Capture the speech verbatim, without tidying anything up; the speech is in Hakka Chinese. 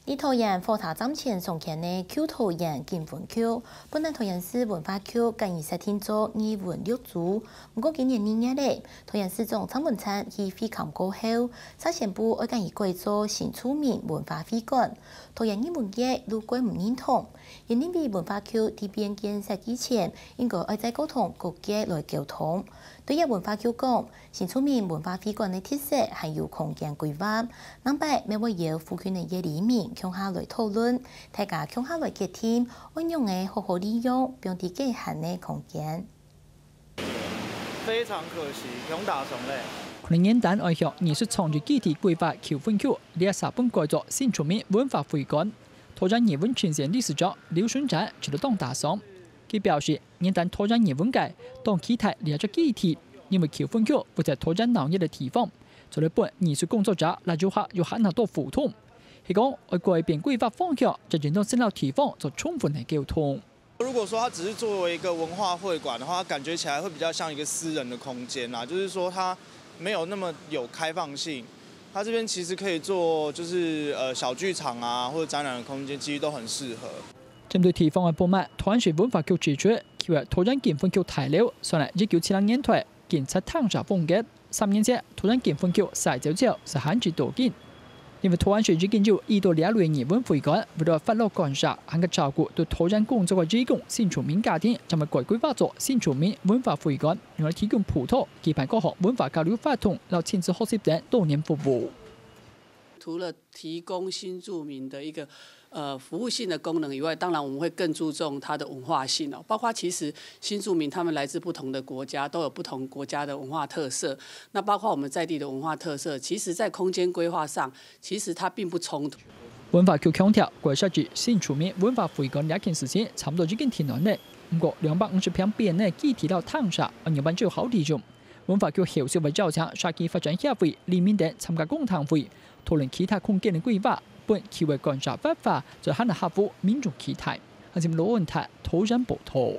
在桃園火車站前重建个舊桃園金粉橋，本來桃園市文化局該年設定做藝文綠洲，毋過今年二月咧，桃園市長蔡文燦去會勘過後，煞宣布愛將佢改做新住民文化會館。桃園藝文界都蓋毋認同，也認為文化局在變建設計前，應該愛再過同各界來溝通。對這文化局講， 新住民文化會館个特色還有空間規劃，另擺乜會邀附近个一里民共下來討論，大家共下來決定，愛仰仔好好利用放在該項个空間。非常可惜，用打爽嘞。可能原旦愛向藝術創意基地規劃九份區，這下本改做新住民文化會館。桃園藝文青年理事長劉順展就當打爽。佢表示， 原旦桃園藝文界當期待這隻基地，因為九份區位在桃園鬧熱个地方，做得分藝術工作者摎遊客有較多互動。佢講，愛改變規劃方向，就應當先摎地方做充分个溝通。如果說它只是作為一個文化會館的話，它感覺起來會比較像一個私人的空間啦，就是說它沒有那麼有開放性。它這邊其實可以做，就是呃小劇場啊，或者展覽的空間，其實都很適合。 針對地方个不滿，桃園市文化局指出，舊个桃園金粉橋大樓算係一九七零年代建設廳舍風格。三年前，桃園金粉橋徙走之後，就閒置到今。因為桃園市已經有已多這類藝文會館，為了發落感謝，還過照顧對桃園工作个義工新住民家庭，將會改規劃做新住民文化會館，用來提供輔導，舉辦各項文化交流活動，摎親子學習等多元服務。除了提供新住民的一个呃服务性的功能以外，当然我们会更注重它的文化性哦。包括其实新住民他们来自不同的国家，都有不同国家的文化特色。那包括我们在地的文化特色，其实在空间规划上，其实它并不冲突。文化局强调，改设置新住民文化会馆这件事情差不多已经定案了，毋过两百五十坪边个基地摎廳舍，仰般做好利用。文化局后续会邀請社区发展协会、里民等参加公听会，讨论其他空间个规划，分区域个感谢活化，做得合乎民众期待。韩新罗文泰，桃园报道。